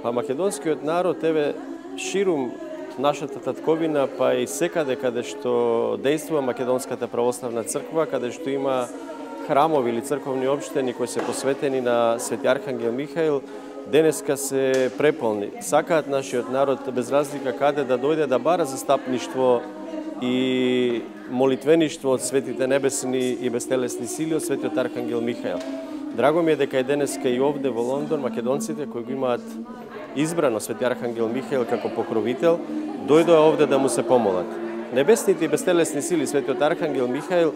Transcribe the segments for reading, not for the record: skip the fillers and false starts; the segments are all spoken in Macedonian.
Па македонскиот народ, еве, ширум нашата татковина, па и секаде каде што действува Македонската православна црква, каде што има храмови или црковни општини кои се посветени на Свети Архангел Михаил, денеска се преполни. Сакаат нашиот народ без разлика каде да дојде да бара застапништво и молитвеништво од светите небесни и бестелесни сили од Светиот Архангел Михаил. Драго ми е дека и денеска и овде во Лондон македонците кои го имаат избрано Свети Архангел Михаил како покровител, дојдоа овде да му се помолат. Небесните и бестелесни сили Светиот Архангел Михаил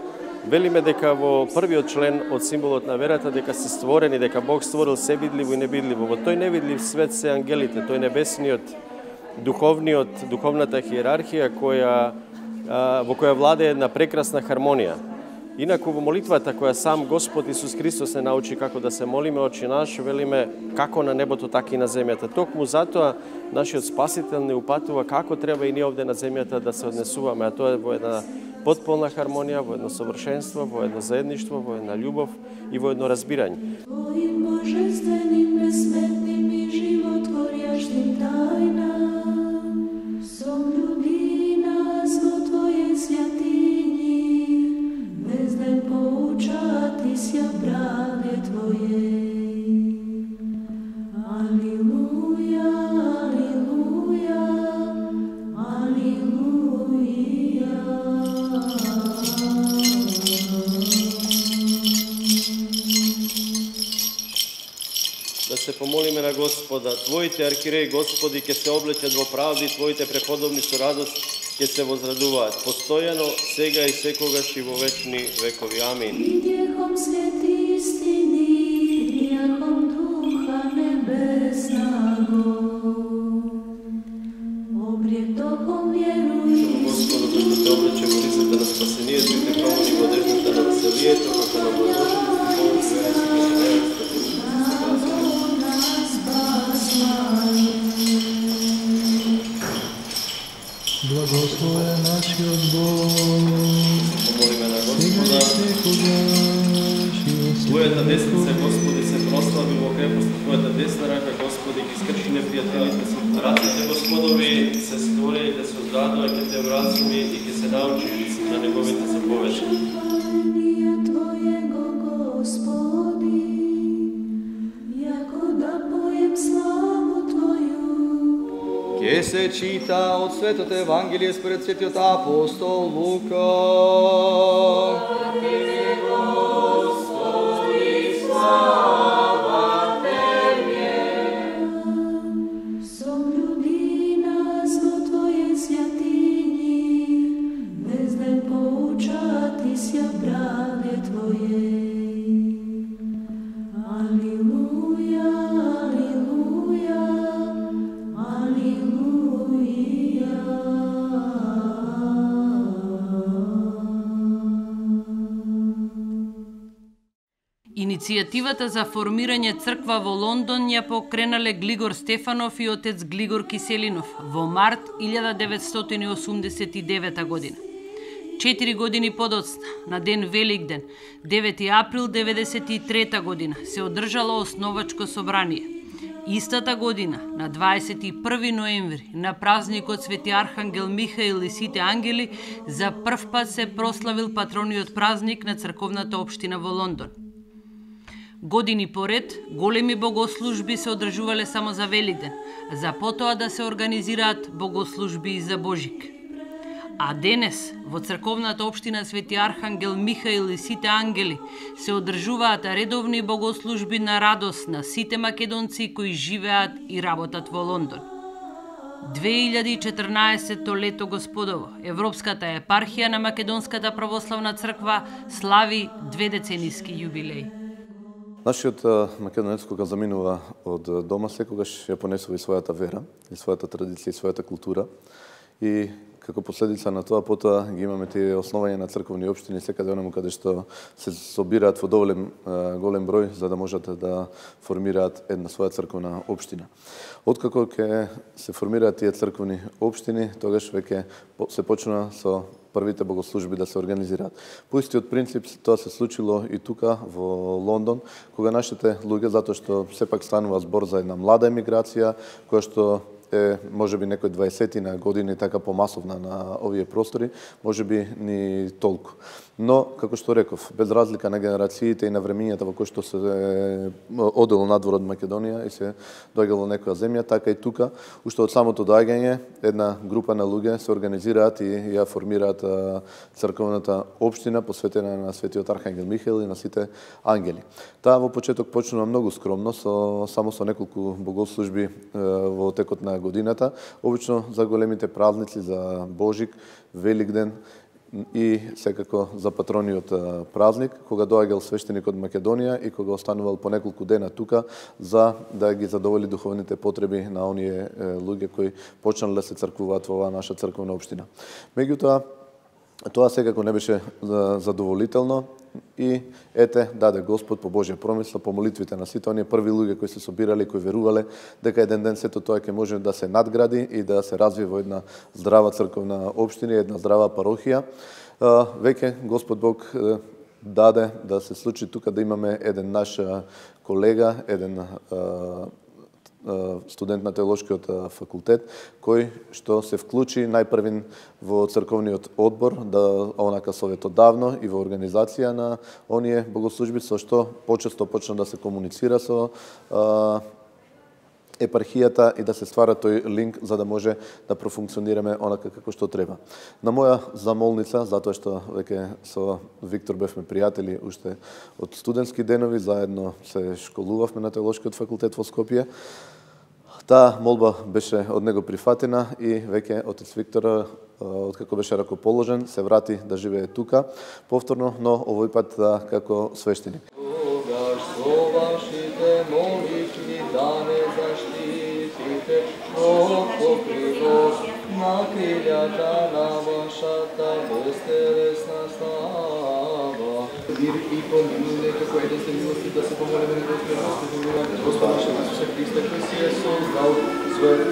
велиме дека во првиот член од символот на верата дека се створени, дека Бог створил се видливо и невидливо. Во тој невидлив свет се ангелите, тој небесниот, духовната хиерархија во која владее една прекрасна хармонија. Инаку во молитвата која сам Господ Исус Христос не научи како да се молиме, Очи наш, велиме како на небото, така и на земјата. Токму затоа нашиот Спасител не упатува како треба и ние овде на земјата да се однесуваме, а тоа е во една потполна хармонија, во едно совршенство, во едно заедништво, во една љубов и во едно разбирање. Твоим божественим, безсметним и животворящим тајнам, соблюби нас во Твоје святињи, без ден поучати ся правде Твоје. Алилуја, алилуја, алилуја. Да се помолиме на Господа. Твоите архиреи, Господи, ке се облечат во правди, Твоите преподобни со радост ке се возрадуваат. Постојано, сега и секогаш и во вечни векови. Амин. Придјехом свети истини, придјехом Духа Небеснаго, обретохом верују. Господу, кој те облече во лицата на спасението и те промени во одеждата на веселието, како на Божиот Благословен нашиот Бог, помолиме на Господа. Твојата десница, Господи, се прослави во крепост, Твојата десна рака, Господи, ги скрши непријателите си. Раците, Господови, се створени да се оздадува, ке те вразуми и ке се научиш на неговите заповеди. Твоего, Господи, јако да поем славу Твоју. Ке се чита од Светото Евангелие според Светиот апостол Лука. Соблюби нас во Твоје святињи, без ден поучати ся правде Твоје. Алилуја, алилуја, алилуја. Иницијативата за формирање црква во Лондон ја покренале Глигор Стефанов и отец Глигор Киселинов во март 1989 година. 4 години подоцна, на ден Великден, 9 април 1993 година, се одржало основачко собрание. Истата година, на 21 ноември, на празникот Свети Архангел Михаил и сите ангели, за прв пат се прославил патрониот празник на црковната општина во Лондон. Години поред, големи богослужби се одржувале само за Великден, за потоа да се организираат богослужби и за Божик. А денес, во црковната општина Свети Архангел Михаил и сите ангели, се одржуваат редовни богослужби на радост на сите македонци кои живеат и работат во Лондон. 2014 лето Господово, Европската епархија на Македонската православна црква слави 2-децениски јубилеј. Нашиот македонец кога заминува од дома секогаш ја понесува и својата вера, и својата традиција, и својата култура. И како последица на тоа, потоа ги имаме тие основања на црковни општини секаде онаму каде што се собираат во доволен голем број за да можат да формираат една своја црковна општина. Откако ќе се формираат тие црковни општини, тогаш веќе се почна со првите богослужби да се организираат. По истиот принцип тоа се случило и тука во Лондон, кога нашите луѓе, затоа што сепак станува збор за една млада емиграција, која што е можеби некој 20 години така помасовна на овие простори, можеби ни толку. Но, како што реков, без разлика на генерациите и на времињата во кои што се одело надвор од Македонија и се доаѓало некоја земја, така и тука, уште од самото доаѓање, една група на луѓе се организираат и ја формираат црковната општина посветена на светиот архангел Михаил и на сите ангели. Таа во почеток почнува многу скромно, само со неколку богослужби во текот на годината, обично за големите празници, за Божик, Великден, и секако за патрониот празник, кога доаѓал свештеник од Македонија и кога останувал по неколку дена тука за да ги задоволи духовните потреби на оние луѓе кои почнале да се црквуваат во оваа наша црковна општина. Меѓутоа, тоа секако не беше задоволително и ете, даде Господ по Божја промисла, по молитвите на сите оние први луѓе кои се собирале, кои верувале дека еден ден сето тоа ќе може да се надгради и да се развие во една здрава црковна општина, една здрава парохија. Веќе Господ Бог даде да се случи тука да имаме еден наш колега, еден студент на теолошкиот факултет, кој што се вклучи најпрвин во црковниот одбор, да онака советодавно и во организација на оние богослужби, со што почесто почна да се комуницира со епархијата и да се ствара тој линк за да може да профункционираме онака како што треба. На моја замолница, затоа што веќе со Виктор бевме пријатели уште од студентски денови, заедно се школувавме на теолошкиот факултет во Скопје, таа молба беше од него прифатена и веќе отец Виктор, откако беше ракоположен, се врати да живее тука повторно, но овој пат како свештеник. Тогаш со вашите молитви да не заштитите од покривот на крилјата на вашата безтелесна слава. И помилуй како еден сте милости да се помолиме на Господ, Господ наш Исусе Христе, кој си е создал својот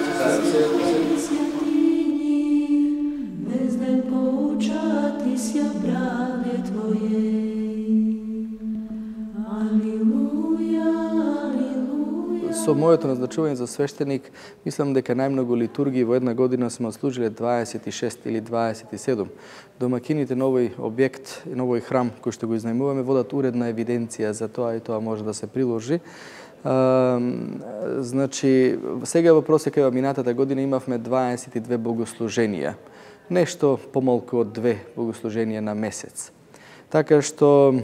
Безден поучати ся браде Твоје. Со моето назначување за свештеник, мислам дека најмногу литургии во една година сме отслужиле 26 или 27. Домакините на овој објект и на овој храм кој што го изнајмуваме водат уредна евиденција за тоа и тоа може да се приложи. Значи, сега во просека во минатата година имавме 22 богослуженија. Нешто помалку од 2 богослуженија на месец. Така што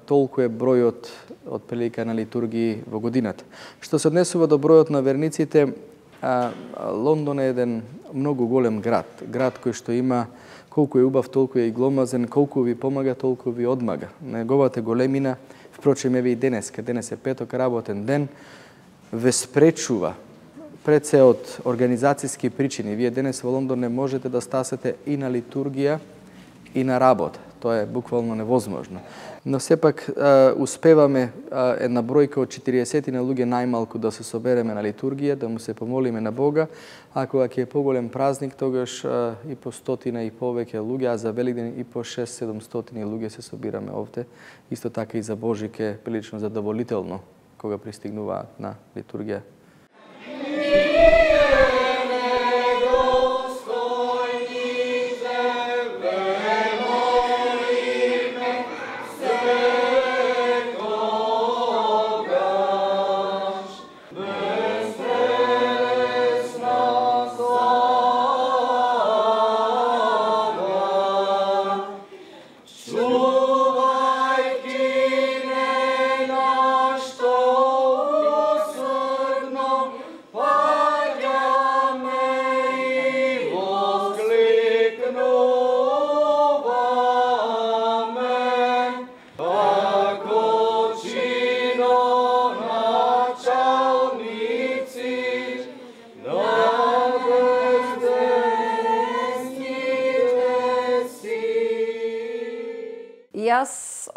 толку е бројот од прилика на литургии во годината. Што се однесува до бројот на верниците, Лондон е еден многу голем град. Град кој што има колку е убав, толку е и гломазен, колку ви помага, толку ви одмага. Неговата големина, впрочем, еве и денеска, денес е петок работен ден, ве спречува пред се од организацијски причини. Вие денес во Лондон не можете да стасете и на литургија и на работа. Тоа е буквално невозможно. Но сепак успеваме една бројка од 40 на луѓе најмалку да се собереме на литургија, да му се помолиме на Бога, а кога ќе е поголем празник, тогаш и по 100 и повеќе луѓе, а за Великден и по 600-700 луѓе се собираме овде. Исто така и за Божик е прилично задоволително кога пристигнуваат на литургија. Čuvajki me na što usrdno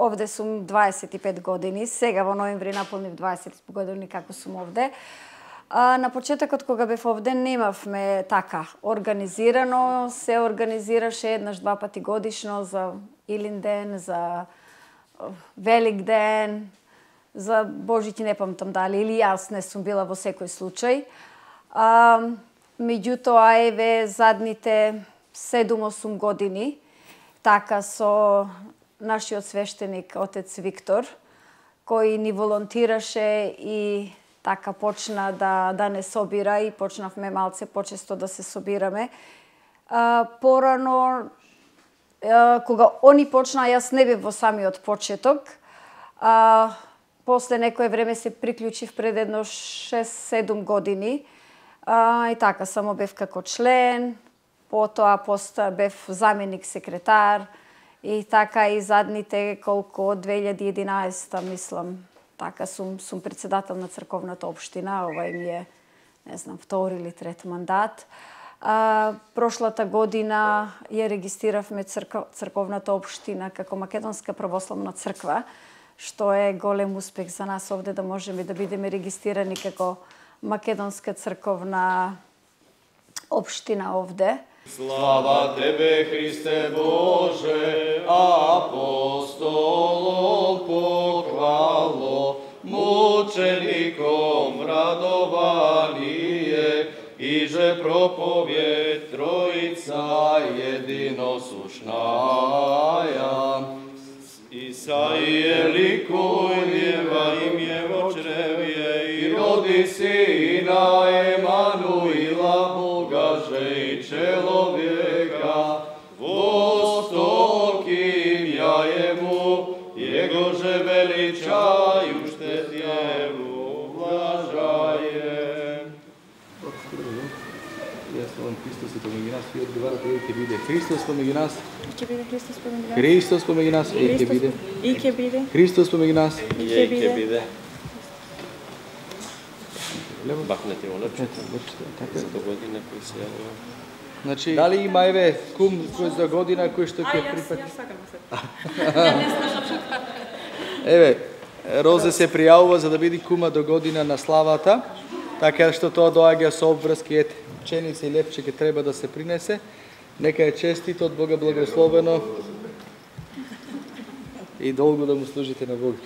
овде сум 25 години, сега во ноември наполнив 20 години како сум овде. На почетокот кога бев овде немавме така организирано, се организираше еднаш-два пати годишно за Илинден, за Великден, за Божич не памтам дали, или јас не сум била во секој случај. Меѓутоа, еве, задните 7-8 години, така со нашиот свештеник, отец Виктор, кој ни волонтираше и така почна да не собира и почнавме малце почесто да се собираме. Порано, кога они почна, јас не бев во самиот почеток. После некое време се приклучив пред едно 6-7 години. И така, само бев како член, потоа бев заменик секретар и така и задните колку од 2011, мислам, така сум председател на црковната општина, ова ми е, не знам, втори или трет мандат. Прошлата година ја регистриравме црковната општина како Македонска православна црква, што е голем успех за нас овде да можеме да бидеме регистрирани како Македонска црковна општина овде. Слава Тебе, Христе Боже, апостолом похвало, мучеником радование, иже проповед Троица единосушная. Исаие ликуй, нева имје во чревје, и роди сина Емануила, Бога же и человека, востоким я ему, его же величаю, штет его блажаем. Христос е помеѓу нас, и одговарате, и ќе биде Христос помеѓу нас. Ќе биде Христос помеѓу нас. Христос помеѓу нас, и ќе биде. И ќе биде. Христос помеѓу нас, и ќе биде. Бахнете го лепчето. За до година кој се јавува. Значи, дали има еве кум кој за година кој што ќе припати? Јас сакам се. Ја не слушам. Еве, Розе се пријавува за да биде кума до година на славата, така што тоа доаѓа со обврски, ете, пченица и лепче ќе треба да се принесе. Нека е честито, од Бога благословено и долго да му служите на Бога.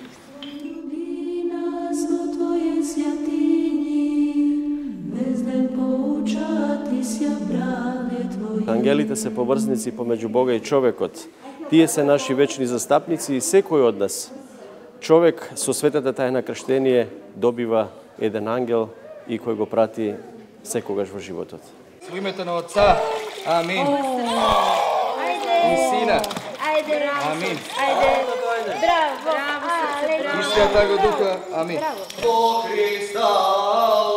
Ангелите се поврзници помеѓу Бога и човекот. Тие се наши вечни застапници и секој од нас. Човек со светата тајна крштение добива еден ангел и кој го прати секогаш во животот. Во името на Отца, амин. И Сина, амин. Браво. И Святаго Духа, амин. Во Христа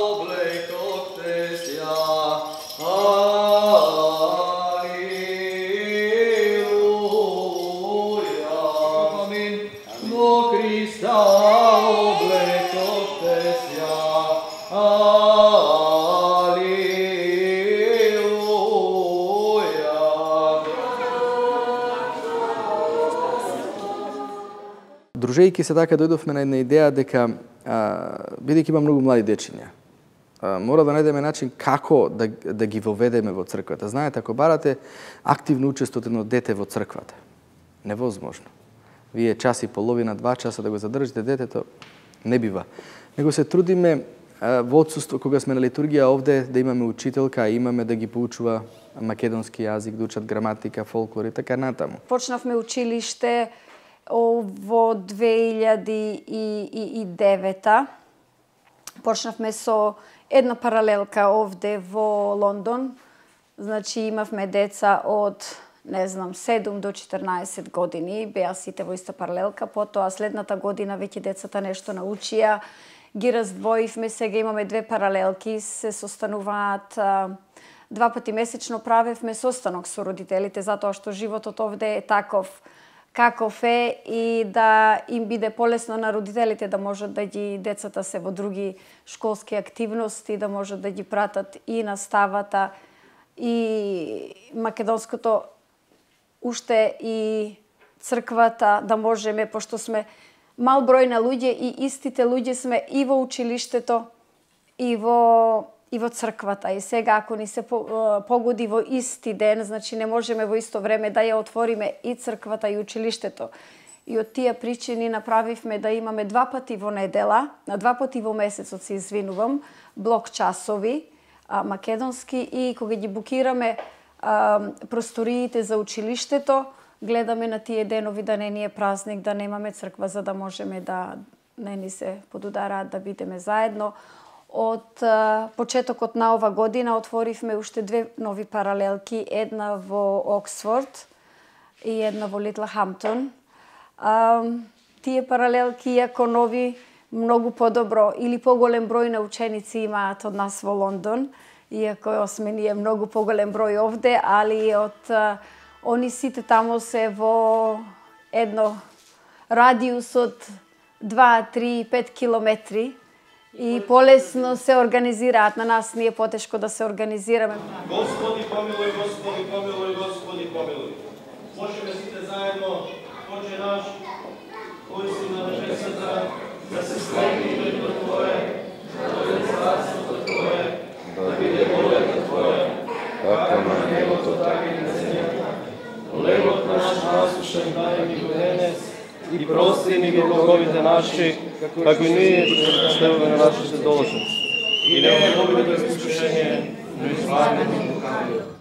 облекохте ся, алилуја. Амин. Во Христа облекохте ся, Дружејќи се така дојдовме на една идеја дека бидејќи има многу млади дечиња, мора да најдеме начин како да ги воведеме во црквата. Знаете, ако барате активно учество од едно дете во црквата, невозможно. Вие час и половина, 2 часа да го задржите детето, не бива. Него се трудиме во отсуство, кога сме на литургија овде, да имаме учителка, а имаме да ги поучува македонски јазик, да учат граматика, фолклор и така натаму. Почнавме училиште во 2009. Почнавме со една паралелка овде во Лондон. Значи имавме деца од, не знам, 7 до 14 години, беа сите во иста паралелка. Потоа следната година веќе децата нешто научија, ги раздвоивме, сега имаме 2 паралелки, се состануваат 2 пати месечно, правевме состанок со родителите, затоа што животот овде е таков каков е и да им биде полесно на родителите да можат да ги децата се во други школски активности, да можат да ги пратат и наставата и македонското уште и црквата, да можеме, пошто сме мал број на луѓе и истите луѓе сме и во училиштето, и во црквата. И сега, ако ни се погоди во исти ден, значи не можеме во исто време да ја отвориме и црквата и училиштето. И од тие причини направивме да имаме 2 пати во недела, на 2 пати во месецот, се извинувам, блок часови, македонски, и кога ги букираме просториите за училиштето, гледаме на тие денови да не ни е празник, да немаме црква, за да можеме да не ни се подудараат, да бидеме заедно. Од почетокот на ова година отворивме уште 2 нови паралелки, една во Оксфорд и една во Литлхамптон. Тие паралелки, иако нови, многу подобро или поголем број на ученици имаат од нас во Лондон, иако сме ние многу поголем број овде, али од они сите тамо се во едно радиус од 2, 3, 5 километри и полесно се организираат. На нас ние потешко да се организираме. Господи помилуј, Господи помилуј, Господи помилуј. Можеме сите заедно, Отче наш, кој си на небесата, да се слави името Твое, да дојде царството Твое, да биде волята Твоја, како на небото, така и на земјата. Хлебот наш насушен дај ни го денес и прости ни ги долговите наши, како и ние што простеваме на нашите должници. И не ме доведи до искушение, но избави ни од лукавиот.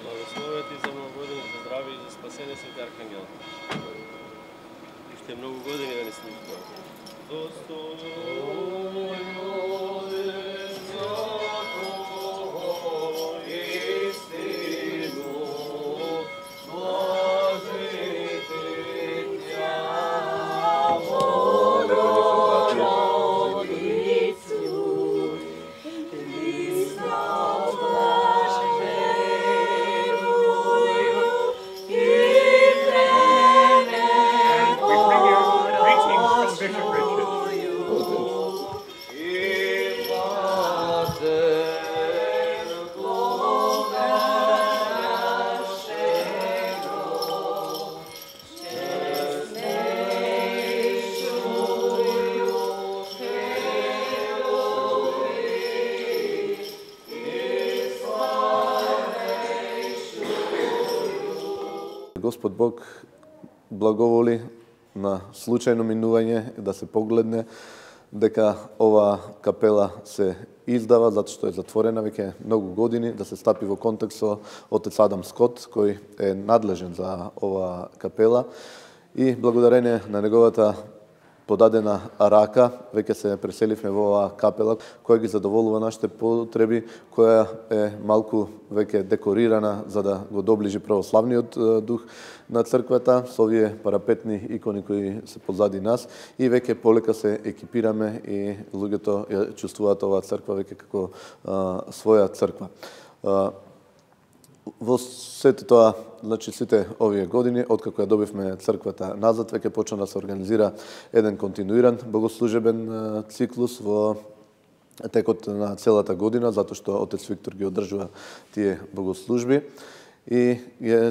Благословет и за многу години, за здраве и за спасение, Свети Архангел. Уште многу години да ни служба. Достойно е свято истину, Божите тя Богородицу, Христа Господ Бог благоволи на случајно минување да се погледне дека ова капела се издава, затоа што е затворена веќе многу години, да се стапи во контакт со отец Адам Скот, кој е надлежен за ова капела, и благодарение на неговата подадена рака, веќе се преселивме во оваа капела, која ги задоволува нашите потреби, која е малку веќе декорирана за да го доближи православниот дух на црквата со овие парапетни икони кои се позади нас, и веќе полека се екипираме и луѓето ја чувствуваат оваа црква веќе како своја црква. Во сето тоа, значи сите овие години, откако ја добивме црквата назад, веќе почна да се организира еден континуиран богослужебен циклус во текот на целата година, затоа што отец Виктор ги одржува тие богослужби. И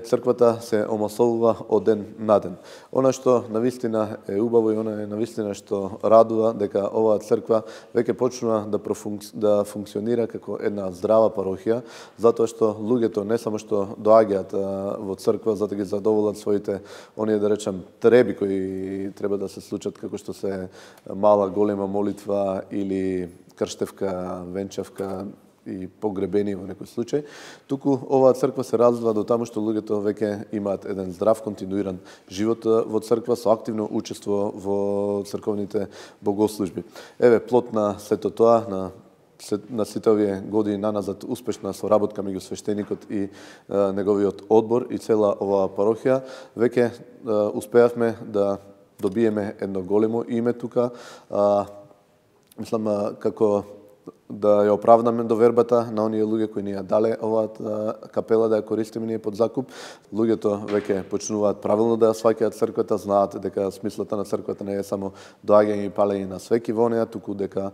црквата се омасовува од ден на ден. Она што навистина е убаво и она е навистина што радува, дека оваа црква веќе почнува да функционира како една здрава парохија, затоа што луѓето не само што доаѓаат во црква за да ги задоволат своите, оние да речем, треби кои треба да се случат, како што се мала голема молитва или крштевка, венчавка и погребени во некој случај, туку оваа црква се развива до таму што луѓето веќе имаат еден здрав, континуиран живот во црква со активно учество во црковните богослужби. Еве, плод на сето тоа, на сите овие години наназад, успешна соработка меѓу свештеникот и неговиот одбор и цела оваа парохија, веќе успеавме да добиеме едно големо име тука. Мислам, како да ја оправдаме довербата на оние луѓе кои ни ја дале оваа капела да ја користиме ние под закуп. Луѓето веќе почнуваат правилно да ја сваќаат црквата, знаат дека смислата на црквата не е само доаѓање и палење на свеки во неа, туку дека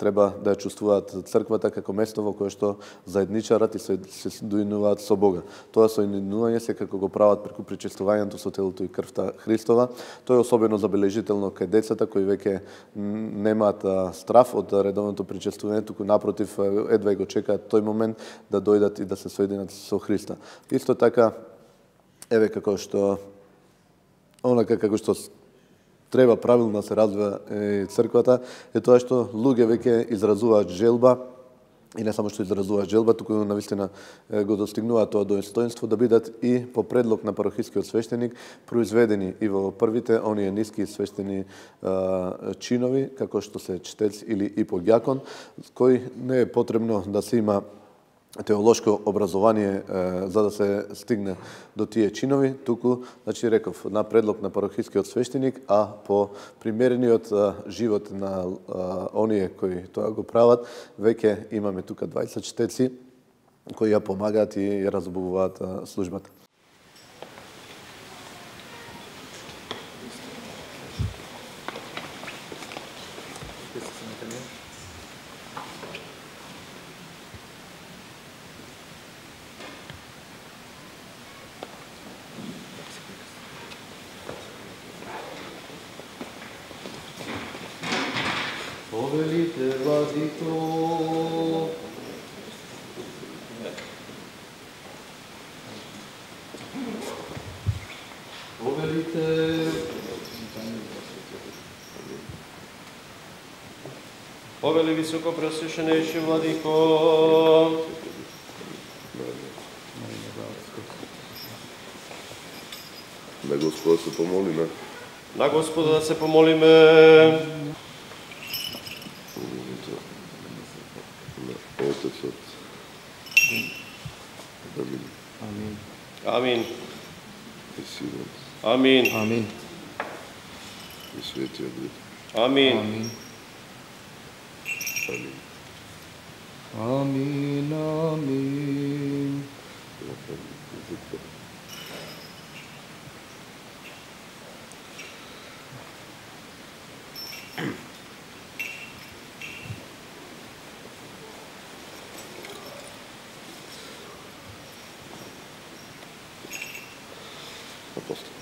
треба да ја чувствуваат црквата како место во кое што заедничарат и се соединуваат со Бога. Тоа соединување се како го прават преку причестувањето со телото и крвта Христова. Тоа е особено забележително кај децата кои веќе немаат страф од редовното причестување, туку напротив едва го чекаат тој момент да дојдат и да се соединат со Христа. Исто така, еве како што треба правилно да се развива црквата, е тоа што луѓе веќе изразуваат желба, и не само што изразуваат желба, туку навистина го достигнуваат тоа достоинство да бидат и по предлог на парохискиот свештеник произведени и во првите оние ниски свештени чинови, како што се чтец или иподјакон, кој не е потребно да се има теолошко образование за да се стигне до тие чинови, туку, значи реков, на предлог на парохискиот свештеник, а по примерениот живот на оние кои тоа го прават, веќе имаме тука 20 чтеци кои ја помагаат и ја разбавуваат службата. Повелите, владико, повелите, Повели високо пресвещенейши владико, На Господа се помолиме. на Господа да се помолиме. Отецот. Амин. Амин. Амин. И Синот. Амин. Амин. И Светиот Дух. Амин. Амин. Амин. Амин. Амин. Апостол.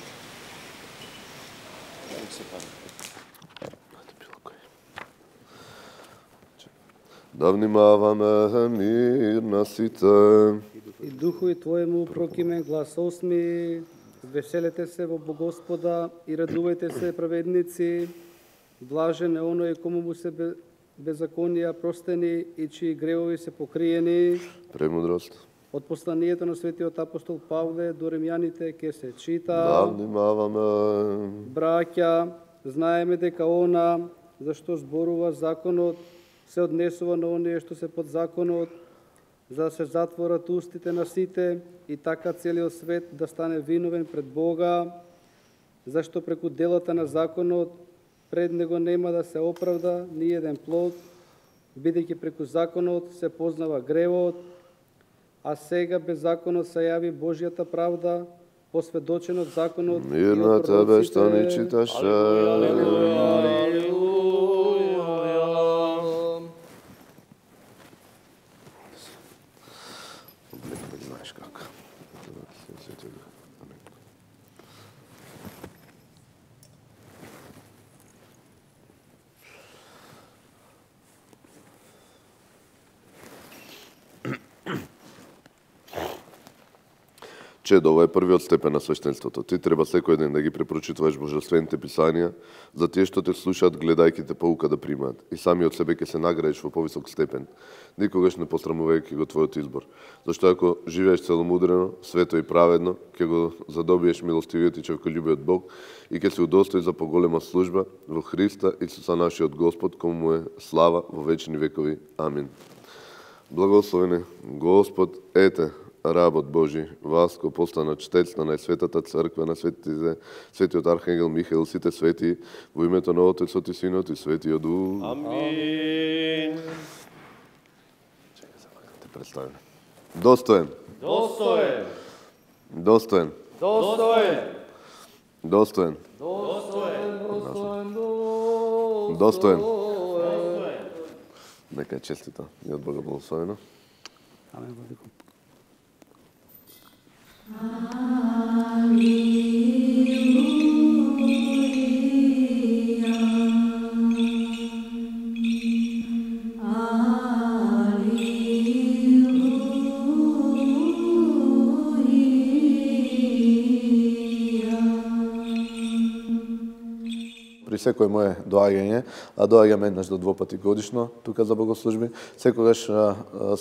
Да внимаваме мир на сите. И духови Твоему прокимен глас осми, веселете се во Богоспода и радувајте се праведници, блажен е оној кому му се беззаконија простени и чии гревови се покриени. Премудрост. Од посланието на светиот апостол Павле до римјаните ке се чита. Да внимаваме. Браќа, знаеме дека она зашто зборува законот се однесува на оние што се под законот, за да се затворат устите на сите и така целиот свет да стане виновен пред Бога, зашто преку делата на законот пред него нема да се оправда ни еден плод, бидејќи преку законот се познава гревот, а сега без законот се јави Божјата правда, посведочен од законот Мир на тебе што ни читаше. Знаеш како. Чедо, ова е првиот степен на свештенството. Ти треба секој ден да ги препрочитуваш божествените писанија, за тие што те слушаат, гледајќи те поука да примаат. И сами од себе ќе се наградиш во повисок степен, никогаш не посрамувајќи го твојот избор. Зашто ако живееш целомудрено, свето и праведно, ќе го задобиеш милостивиот и човеколюбиот Бог и ќе се удостои за поголема служба во Христа Исуса нашиот Господ, кому му е слава во вечни векови. Амин. Благословени Господ, ете, работ Божи, Васко, постана чтец на најсветата црква, на светиот архангел Михаил, сите свети, во името на Отецот и Синот и Светиот Дух. Амин. представиме. Достоен. Достоен. Достоен. Достоен. Достоен. Достоен. Достоен. Нека е честито и од Бога благословено. Амен, владико. При секој мое доаѓање, а доаѓам еднаш до 2 пати годишно тука за богослужби, секогаш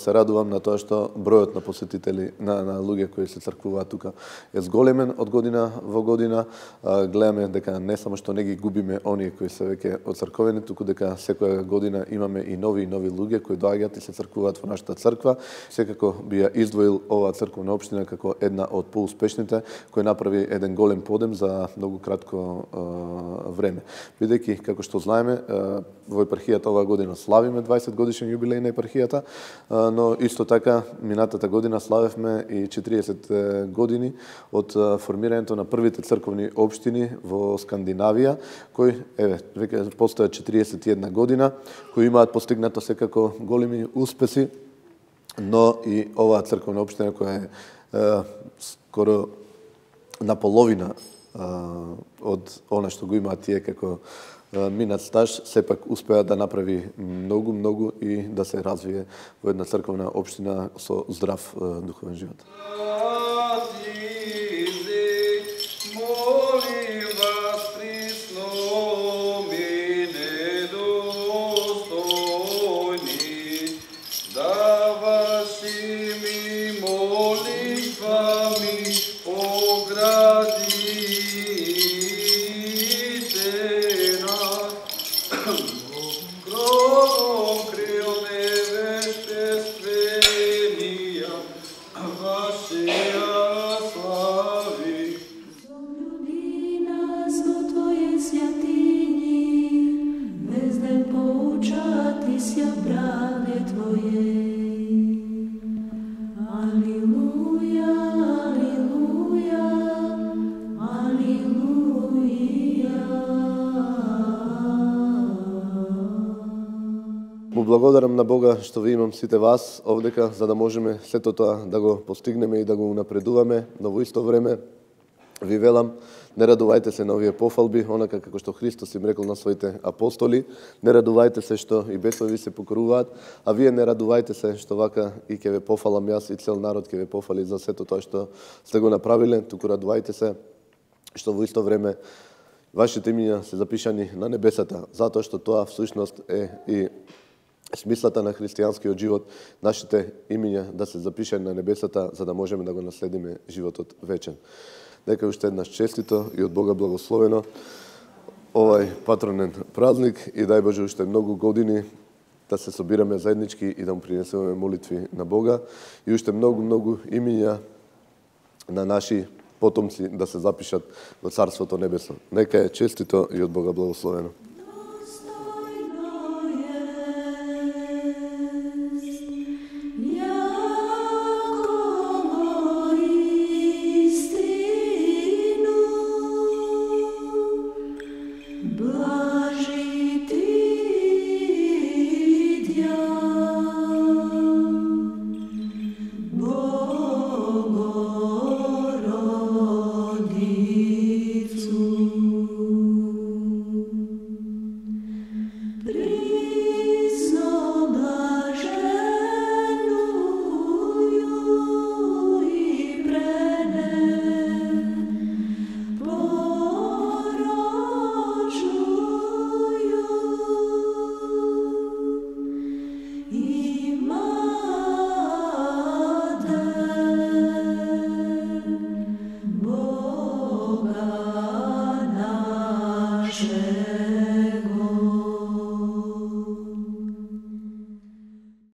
се радувам на тоа што бројот на посетители, на луѓе кои се црквуваат тука е зголемен од година во година. Гледаме дека не само што не ги губиме оние кои се веќе оцрковени, туку дека секоја година имаме и нови луѓе кои доаѓаат и се црквуваат во нашата црква. Секако би ја издвоил оваа црковна општина како една од поуспешните, кој направи еден голем подем за многу кратко време. Бидејќи, како што знаеме, во епархијата оваа година славиме 20 годишен јубилеј на епархијата, но исто така минатата година славевме и 40 години од формирањето на првите црковни општини во Скандинавија, кои веќе постојат 41 година, кои имаат постигнато секако големи успеси, но и оваа црковна општина која е скоро наполовина од она што го имаат тие како минат стаж, сепак успеа да направи многу и да се развие во една црковна општина со здрав духовен живот. Благодарам на Бога што ви имам сите вас овдека, за да можеме сето тоа да го постигнеме и да го унапредуваме, но во исто време ви велам, не радувајте се на овие пофалби, онака како што Христос им рекол на своите апостоли, не радувајте се што и бесови се покоруваат, а вие не радувајте се што вака и ќе ве пофалам јас и цел народ ќе ве пофали за сето тоа што сте го направиле, туку радувајте се што во исто време вашите имиња се запишани на небесата, затоа што тоа всушност е и смислата на христијанскиот живот, нашите имиња да се запишани на небесата, за да можеме да го наследиме животот вечен. Нека уште еднаш честито и од Бога благословено овај патронен празник и дај Боже уште многу години да се собираме заеднички и да му принесеме молитви на Бога и уште многу имиња на наши потомци да се запишат во Царството Небесно. Нека е честито и од Бога благословено. Boga naše.